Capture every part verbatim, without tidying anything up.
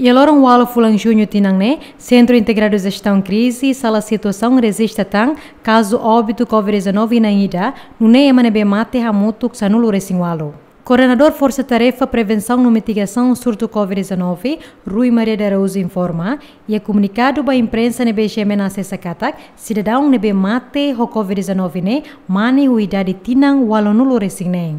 Iha loron ualu fulan Juñu tinan ne'e, Sentru Integradu Jestaun Krize Sala Situasaun rejista tan kazu óbitu COVID dezanove na'in ida, nune'e ema ne'ebé mate hamutuk sanulu resin ualu. Koordenadór Forsa Tarefa Prevensaun no Mitigasaun Surtu COVID dezanove, Rui Maria de Araújo informa, iha komunikadu ba imprensa ne'ebé G M N asesa katak, sidadaun ne'ebé mate ho COVID dezanove ne'e mane ho idade tinan ualunulu resin neen.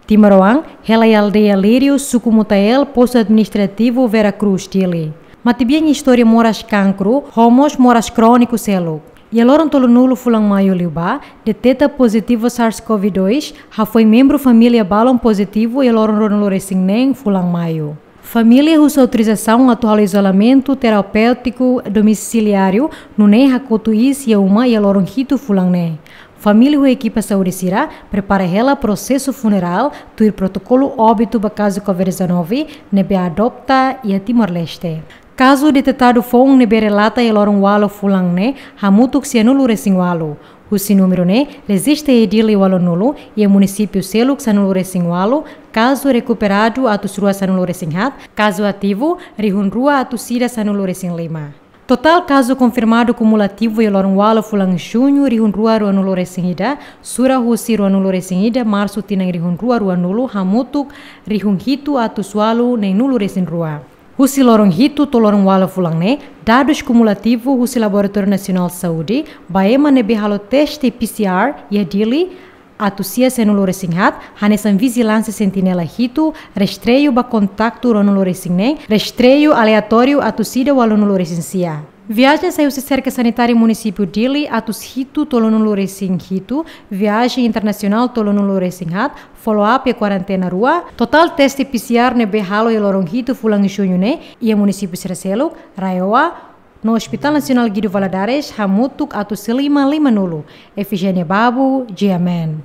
Timoroan, hela iha aldeia Lírio, suku Mutael, postu administrativu Vera Cruz, Dili. Matebian istória moras kankru, ho mós moras króniku seluk. Iha loron tolunulu fulan Maiu liubá, deteta pozitivu SARS-CoV dois, hafoin membru família balun pozitivu iha loron ruanulu resin neen fulan Maiu. Família husu autorizasaun atu halo izolamentu terapéutiku domisiliáriu, nune'e hakotu iis iha uma iha loron hitu fulan ne'e. Família ho ekipa saúde sira prepara hela prosesu funerál, tuir protokolu óbitu ba kazu COVID dezanove ne'ebé adota iha Timor-Leste. Kazu detetadu foun ne'ebé relata iha loron ualu fulan ne'e hamutuk sianulu resin ualu. Husi númeru ne'e, rejista iha Dili ualunulu, iha munisípiu seluk sanulu resin ualu, kazu rekuperadu atus rua sanulu resin haat, kazu ativu rihun rua atus ida sanulu resin lima. Totál kazu konfirmadu kumulativu iha loron ualu fulan Juñu rihun rua ruanulu resin ida, sura husi ruanulu resin ida Marsu tinan rihun rua ruanulu hamutuk rihun hitu atus ualu neenulu resin rua. Husi loron hitu to'o loron ualu fulan ne'e, dadus kumulativu husi Laboratóriu Nasionál Saúde ba ema ne'ebé halo teste P C R iha Dili, atus sia sianulu resin haat, hanesan vijilánsia sentinela hitu, rastreiu ba kontaktu ruanulu resin neen, rastreiu aleatóriu atus ida ualunulu resin sia. Viajen sai husi serka sanitária munisípiu Dili, atus hitu tolunulu resin hitu, viajen internasionál tolunulu resin haat, follow-up iha kuarentena rua, totál teste P C R ne'ebé halo iha loron hitu fulan Juñu ne'e, iha munisípiu sira seluk, RAEOA, no Hospital Nasionál Guido Valadares, hamutuk atus lima limanulu. Efigénia Babu, G M N.